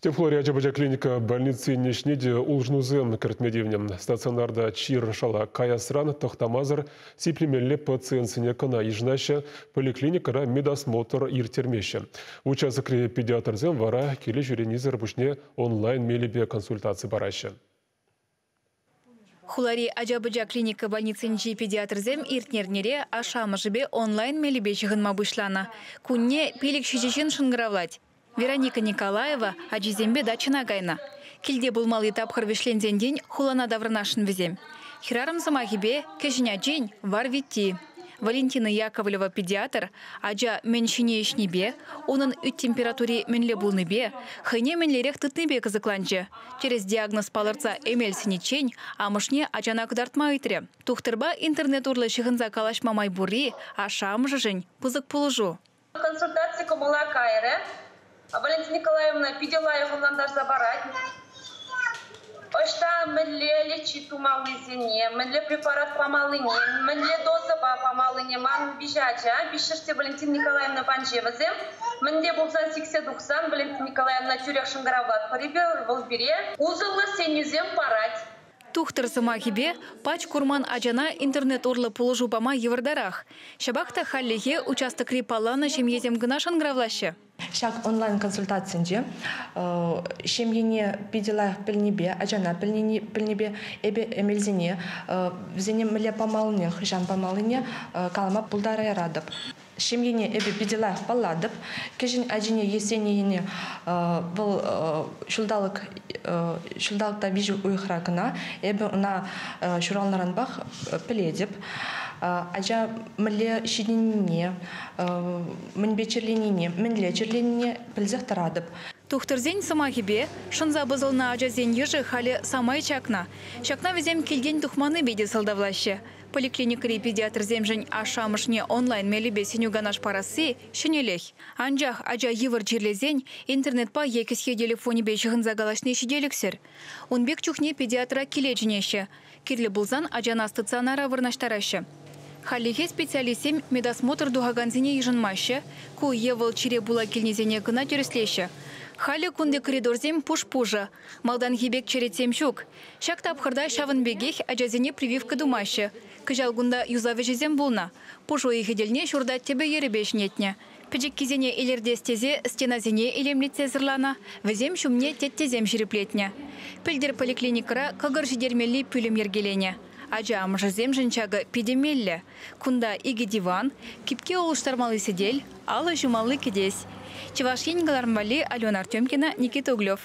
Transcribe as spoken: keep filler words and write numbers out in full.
Тӗп хулари ача-пӑча клиника больницин ӗҫне те улшӑнусем кӗртме тивнӗ. Стационарта чир шала каясран тӑхтамасӑр сиплемелле пациентсене кӑна йышӑнаҫҫӗ, поликлиникӑра медосмотр ирттермеҫҫӗ. Участокри педиатрсем вара киле ҫӳренисӗр пуҫне онлайн мелӗпе консультаци параҫҫӗ. Хулари ача-пӑча клиника больницинчи педиатрсем иртнӗ эрнере ашшӗ-амӑшӗпе онлайн мелӗпе ҫыхӑнма пуҫланӑ. Кунне пилӗк ҫичӗ ҫын шӑнкӑравлать. Вероника Николаева ачисемпе дачӑна кайнӑ. Килте пулмалли тапхӑр вӗҫленсен хулана таврӑнасшӑн вӗсем. Хӗрарӑм сӑмахӗпе кӗҫӗн ачин вар витти. Валентина Яковлева педиатр ача мӗн ҫини ӗҫнипе, унӑн ӳт температури мӗнле пулнипе, хӑйне мӗнлерех тытнипе кӑсӑкланчӗ. Тӗрӗс диагноз палӑртса эмел сӗниччен амӑшне ачана кӑтартма ыйтрӗ. Тухтӑрпа интернет урлӑ ҫыхӑнса калаҫма май пурри ашшӗ-амӑшӗшӗн пысӑк пулӑшу. Консультаци кӑмӑла кайрӗ. Валентина Николаевна питӗ лайӑх ӑнлантарса парать. Ӑҫта мӗнле лечить тумаллисене, мӗнле препарат памаллине, мӗнле дозӑпа памаллине ман виҫӗ ача, виҫҫӗш те Валентина Николаевна панче вӗсем. Мӗнле пулсан сиксе тухсан Валентина Николаевна тӳрех шӑнкӑравлать пӗрипе вӑл пире усӑллӑ сӗнӳсем парать. Тухтӑр сӑмахӗпе пач курман ачана интернет урлӑ пулӑшу пама йывӑртарах. Ҫапах та хальлӗхе участокри палланӑ ҫемьесем кӑна шӑнкӑравлаҫҫӗ. Ҫак онлайн-консультацинче ҫемьене питӗ лайӑх пӗлнипе, ачана пӗлнипе эпӗ эмелсене, вӗсене мӗнле памаллине, хӑҫан памаллине калама пултарайратӑп. Ҫемьене эпӗ питӗ лайӑх паллатӑп. Кӗҫӗн ачине Есенине вӑл ҫулталӑк ҫулталӑкта виҫӗ уйӑхра кӑна эпӗ ӑна ҫуралнӑранпах пӗлетӗп. Ача мӗнле ҫитӗннине, мӗнпе чирленине, мӗнле чирленине пӗлсех тӑратӑп. Тухтӑрсен сӑмахӗпе шӑнса пӑсӑлнӑ ачасен йышӗ халӗ самай чакнӑ. Ҫакна вӗсем килтен тухманнипе те сӑлтавлаҫҫӗ. Поликлиникӑри педиатрсемшӗн ашшӗ-амӑшне онлайн мелӗпе сӗнӳ канаш парасси ҫӗнӗлӗх. Анчах ача йывӑр чирлесен интернетпа е кӗсье телефонӗпе ҫыхӑнса калаҫни ҫителӗксӗр. Ун пек чухне педиатра киле чӗнеҫҫӗ. Кирлӗ пулсан ачана стационара вырнаҫтараҫҫӗ. Хальлӗхе специалистсем медосмотр тухакансене йышӑнмаҫҫӗ. Ку е вӑл чире пула килнисене кӑна тӗрӗслеҫҫӗ. Халӗ кунти коридорсем пуш-пушӑ. Малтанхи пек черетсем ҫук. Ҫак тапхӑрта ҫавӑн пекех ачасене прививка тумаҫҫӗ. Кӑҫал кунта юсав ӗҫӗсем пулнӑ. Пуш уйӑхӗ тӗлне ҫурта тӗпӗ йӗрӗпе ҫӗнетнӗ. Пӗчӗккисене илӗртес тесе стенасене илемлетсе сӑрланӑ, вӗсем ҫумне теттесем ҫирӗплетнӗ. Пӗлтӗр поликлиникӑра кӑкӑр ҫитермелли пӳлӗм йӗркеленӗ. Ача амӑшӗсемшӗн ҫакӑ питӗ меллӗ. Кунта икӗ диван, кипке улӑштармалли сӗтел, алӑ ҫумалли кӗтес. Чӑваш Ен кӑларӑм валли Алена Артемкина, Никита Углев.